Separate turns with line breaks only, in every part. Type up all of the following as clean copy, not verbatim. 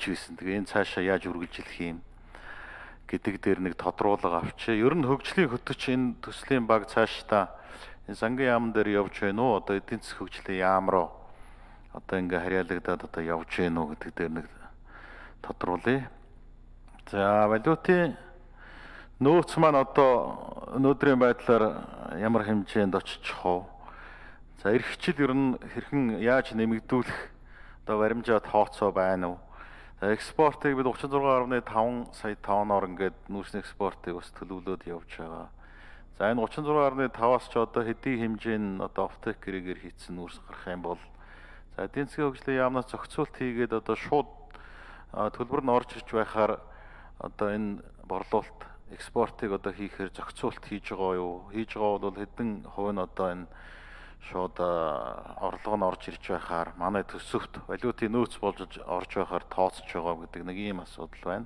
байсан. Тэгээ энэ цаашаа яаж үргэлжлэх юм гэдэг дээр нэг тодруулга авчи. Ер нь хөгжлийн хөтөч энэ төслийн баг цаашдаа энэ сангийн яам дээр явж байна уу? Одоо эдийн засгийн хөгжлийн яам руу одоо ингээ харьяалагдаад одоо явж байна уу гэдэг дээр нэг тодруулъя. За валютын нөөц маань одоо өнөөдрийн байдлаар ямар хэмжээнд очиж хов. За эрх хичээл ер нь хэрхэн яаж нэмэгдүүлэх одоо баримжаа тооцоо байна уу? За экспортыг бид 36.5 сая тонноор ингээд нүүрсний экспортыг бас төлөвлөд явж байгаа. За энэ 36.5-аас ч одоо хэдийн хэмжээнд одоо офтек гэрээгээр хийцэн нүүрс гарах юм бол за эдийн засгийн хөгжлийн яамнаас зохицуулт хийгээд одоо шууд төлбөр нь орж ирж байхаар одоо энэ борлуулалт экспортыг одоо хийхээр зохицуулт хийж байгаа юу? Хийж байгаа бол хэдэн хувь нь одоо энэ шууд орлого нь орж ирж байхаар манай төсөвт валютын нөөц болж орж байхаар тооцож байгаа гэдэг нэг ийм асуудал байна.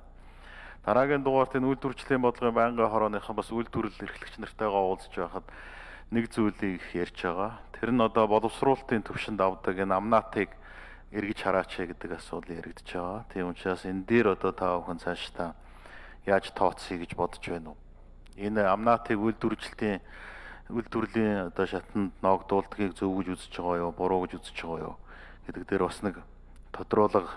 Дараагийн дугаарт энэ үйлдвэрчлийн бодлогын байнгын хорооныхан бас үйлдвэрлэл эрхлэгч нартайгаа уулзж байхад нэг зүйлийг ярьж байгаа. Тэр нь одоо боловсруулалтын төвшөнд авдаг энэ амнаатыг эргэж хараач гэдэг асуудал яригдж байгаа. Тийм учраас энэ дээр одоо та бүхэн цаашдаа яаж тооцъё гэж бодож байна уу? Энэ амнаатыг үйлдвэрлэлийн одоо шатанд ногдуулдгийг зөв гэж үзэж байгаа юу, буруу гэж үзэж байгаа юу гэдэг дээр бас нэг тодруулга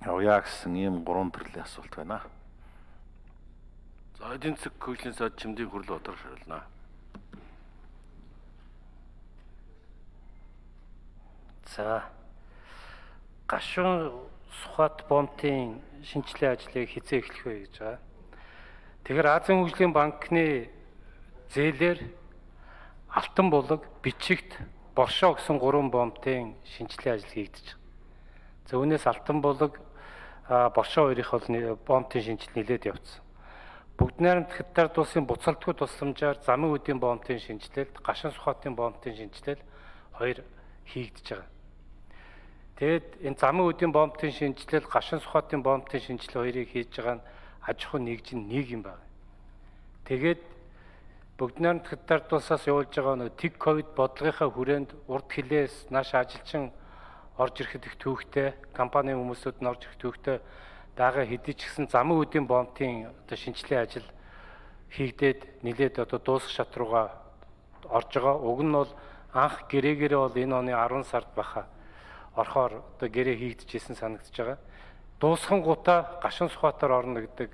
авъя гэсэн ийм гурван төрлийн асуулт байна.
За эдийн засаг хөгжлийн сайд Чимдийн хурлын бодлого шаардлагана.
За гашуун Сухбат бомтын шинжилгээ ажлыг хизээ эхлэх вэ гэж байгаа. Тэгэхээр Азийн хөгжлийн банкны зээлээр Алтан булаг, Бичигт, Боршоо гэсэн 3 бомтын шинжилгээ ажил хийгдэж байгаа. За үүнээс Алтан булаг, Боршоо хоёрын бомтын шинжилгээ нэлээд явцсан. Бүгд найрамд Хятад улсын буцалтгүй тусламжаар замын үдийн бомтын шинжилэлд, Гашуун Сухбатын бомтын шинжилэл хоёр хийгдэж байгаа. Тэгэд энэ замын үдийн бомтын шинжилэл, Гашуун Сухбатын бомтын шинжилэл хоёрыг хийж байгаа нь аж ахуйн нэгжин нэг юм байна. Тэгээд бүгд найрамд Хятад улсаас явуулж байгаа нэг тэг ковид бодлогынхаа хүрээнд урд хилээс нааш ажилчин орж ирэхэд их төвхтэй, компанийн хүмүүсүүд нь орж ирэх төвхтэй дагаа хэдий ч гэсэн замын үдийн бомтын одоо шинжилгээ ажил хийгдээд нэлээд одоо дуусах шат руугаа орж байгаа. Уг нь бол анх гэрээгээрээ бол энэ оны 10 сард баха орохоор одоо гэрээ хийгдэжсэн санагдаж байгаа. Дуусхангуудаа Гашуун Сухбатаар орно гэдэг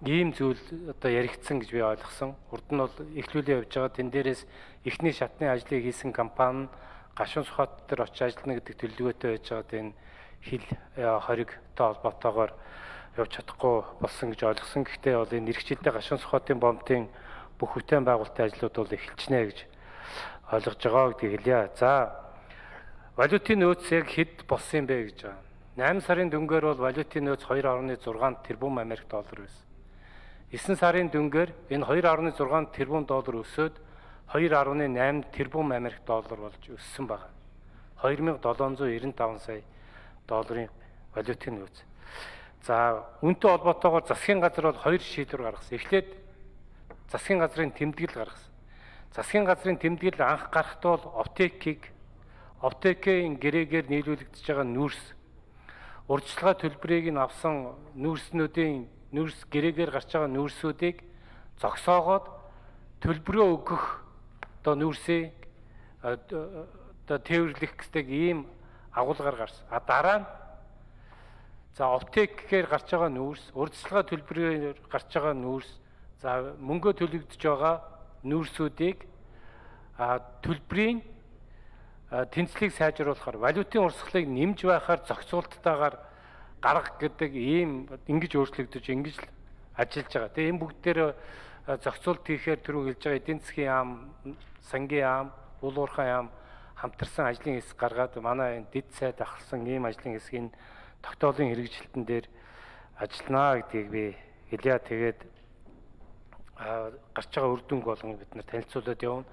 ийм зүйл одоо яригдсан гэж би ойлгосон. Урд нь бол эхлүүлээ явж байгаа. Тэн дээрээс эхний шатны ажлыг хийсэн компани Гашуун Сухбат дээр очиж ажиллана гэдэг төлөвлөгөөтэй байж байгаа. Энэ хил хоригтой холбоотойгоор явж чадахгүй болсон гэж ойлгосон. Гэхдээ бол энэ эрхчлэлтэй Гашуун Сухбатын бомтын бүх бүтээн байгуулалтын ажлууд бол эхэлчихнэ гэж ойлгож байгаа гэдгийг хэлье. За валютын нөөц яг хэд болсон юм бэ гэж байгаа. 8 сарын дүнгээр бол валютын нөөц 2.6 тэрбум Америк доллар байсан. 9 сарын дүнгээр энэ 2.6 тэрбум доллар өсөөд 2.8 тэрбум Америк доллар болж өссөн байна. 2795 сая долларын валютын нөөц. За үнэтэй холбоотойгоор засгийн газар бол 2 шийдвэр гаргасан. Эхлээд засгийн газрын тэмдэглэл гаргасан. Засгийн газрын тэмдэглэл анх гарахдаа бол оптекийн гэрээгээр нийлүүлэгдэж байгаа нүүрс урьдчилгаа төлбөрийг нь авсан нүүрс гэрээгээр гарч байгаа нүүрсүүдийг зогсоогоод төлбөрөө өгөх одоо нүүрсээ одоо тээвэрлэх гэдэг ийм агуулгаар гарсан. Дараа нь за оптекээр гарч байгаа нүүрс, урьдчилгаа төлбөрөөр гарч байгаа нүүрс, за мөнгө төлөгдөж байгаа нүүрсүүдийг төлбөрийн тэнцлийг сайжруулахаар валютын урсгалыг нэмж байхаар зохицуулттайгаар гаргах гэдэг ийм ингэж өөрчлөгдөж ингэж л ажиллаж байгаа. Тэгээ энэ бүгд дээр зохицуулт хийхээр түрүү хэлж байгаа эдийн засгийн яам, сангийн яам, уул уурхай яам хамтарсан ажлын хэсэг гаргаад манай энэ дэд сайд ахалсан ийм ажлын хэсгийн тогтоолын хэрэгжилтэн дээр ажиллана гэдгийг би хэлье. Тэгээд гарч байгаа үр дүнг болгон бид нар танилцуулаад явна.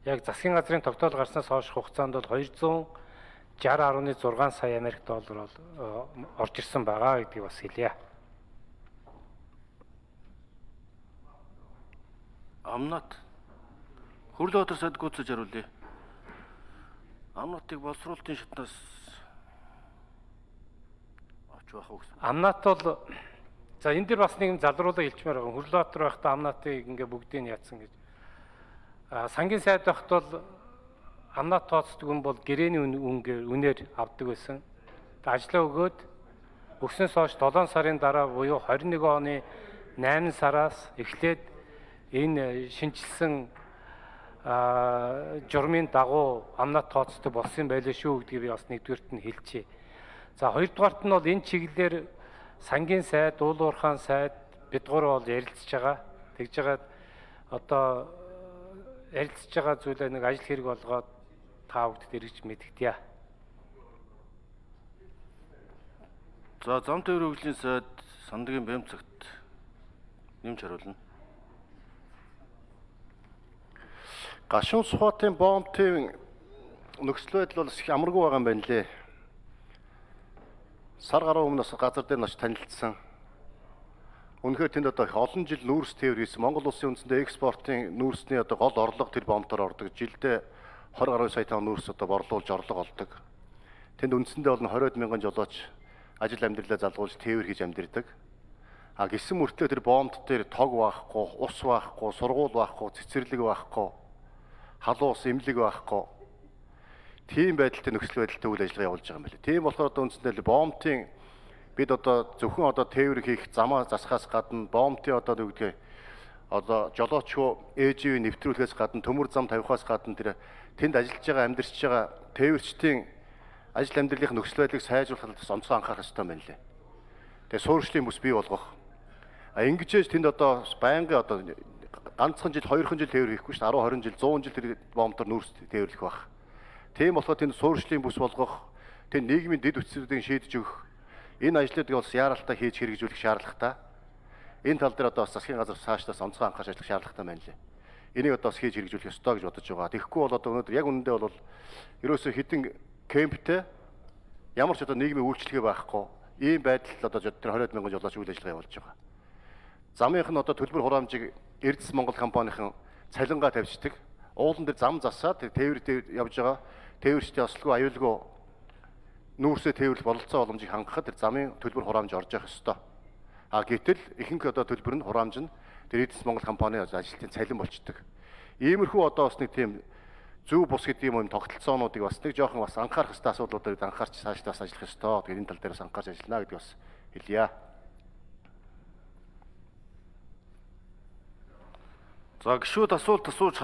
Яг засгийн газрын тогтоол гарснаас хойш хугацаанд бол 260.6 сая Америк доллар орж ирсэн байгаа гэдгийг бас хэлье.
Амнат хурлын бодлого сайд гүйцэж хариулъя. Амнатыг боловсруулалтын шатнаас авч байх уу гэсэн.
Амнат бол за энэ дэр бас нэг залруулга илчмээр байгаа. Хөрлөтөр байхдаа амнатыг ингээ бүгдийг яатсан гэж. Сангийн сайд байхад бол амнат тооцдог хүн бол гэрээний үнээр авдаг байсан. Ажлаа өгөөд өгснөөс хойш 7 сарын дараа буюу 21 оны 8 сараас эхлээд энэ шинжилсэн журмын дагуу амнат тооцдог болсон байлээ шүү гэдгийг би бас нэгдүгээрт нь хэлчихье. За хоёрдугаарт нь бол энэ чиглэлээр сангийн сайд, уул уурхайн сайд бид гурав бол ярилцж байгаа. Тэгж байгаа одоо ярилцж байгаа зүйлээ нэг ажил хэрэг болгоод та бүгд эргэж мэдгдъя.
За зам тээврийн хөгжлийн сайд Сандагийн Бямцагт нэмж хариулна.
Гашуун Сухатын бомбын нөхцөл байдал бол их амаргүй байгаа юм байна лээ. Сар гаруй өмнөөс газар дээр ноч танилцсан. Үнэхээр тэнд одоо их олон жил нүүрс тээвэр хийсэн. Монгол улсын үндсэндээ экспортын нүүрсний одоо гол орлого тэр бомбоор ордог. Жилдээ 20 гаруй сая тонн нүүрс одоо борлуулж орлого олдог. Тэнд үндсэндээ бол 20 мянган жолооч ажил амьдралаа залгуулж тээвэр хийж амьдэрдэг. А гисэн мөртлөө тэр бомбд дээр тог байхгүй, ус байхгүй, сургууль байхгүй, цэцэрлэг байхгүй, халуун ус, эмнэлэг байхгүй. Тийм байдалтай нөхцөл байдалтай үйл ажиллагаа явуулж байгаа юм байна. Тийм болохоор одоо үндсэндээ бомбын бид одоо зөвхөн одоо тээвэр хийх замаа засахаас гадна бомбын одоо юу гэдгийг одоо жолоочгүй ээжийн нэвтрүүлэхээс гадна төмөр зам тавихаас гадна тэр тэнд ажиллаж байгаа амьдарч байгаа тээвэрчдийн ажил амьдралын нөхцөл байдлыг сайжруулахад онцгой анхаарах ёстой юм байна лээ. Тэгээ суурьшлийн бүс бий болгох. Ингэж тэнд одоо байнгын одоо ганцхан жил 2хан жил тээвэр хийхгүй шүү дээ. 10 20 жил 100 жил тэр бомбоор нүүрс тээвэрлэх байх. Тийм болохоор тэнд суурьшлийн бүс болгох, тэнд нийгмийн дэд үтцүүдийг шийдэж өгөх, энэ ажлуудыг бас яаралтай хийж хэрэгжүүлэх шаардлагатай. Энэ тал дээр одоо бас засгийн газар цаашлаас онцгой анхаарч ажиллах шаардлагатай байна лээ. Энийг одоо бас хийж хэрэгжүүлэх ёстой гэж бодож байгаа. Тэгэхгүй бол одоо өнөөдөр яг үнэндээ бол ерөөсөө хэдэн кемптэй ямар ч одоо нийгмийн үйлчлэгээ байхгүй ийм байдал одоо тэр 20 мянган жолооч үйл ажиллагаа явуулж байгаа. Замынх нь одоо төлбөр хураамжийг Эрдэс Монгол компанийн цалингаа тавьждаг. Уулан дээр зам засаад тээвэр явж байгаа. Тээвэрчдийн ослого аюулгүй нүүрсээ тээвэрлэх бололцоо боломжийг хангахад тэр замын төлбөр хураамж орж явах ёстой. А гэтэл ихэнх одоо төлбөр нь хураамж нь тэр Эрдэс Монгол компанийн ажилтны цалин болчдөг. Иймэрхүү одоо бас нэг тийм зөв бус гэдэг юм тогтолцоонуудыг бас нэг жоохон бас анхаарах ёстой асуудлуудыг анхаарч цаашдаа бас ажиллах ёстой. Тэгээд энэ тал дээр бас анхаарч ажиллана гэдгийг бас хэлье.
За гişүүд асуулт асууж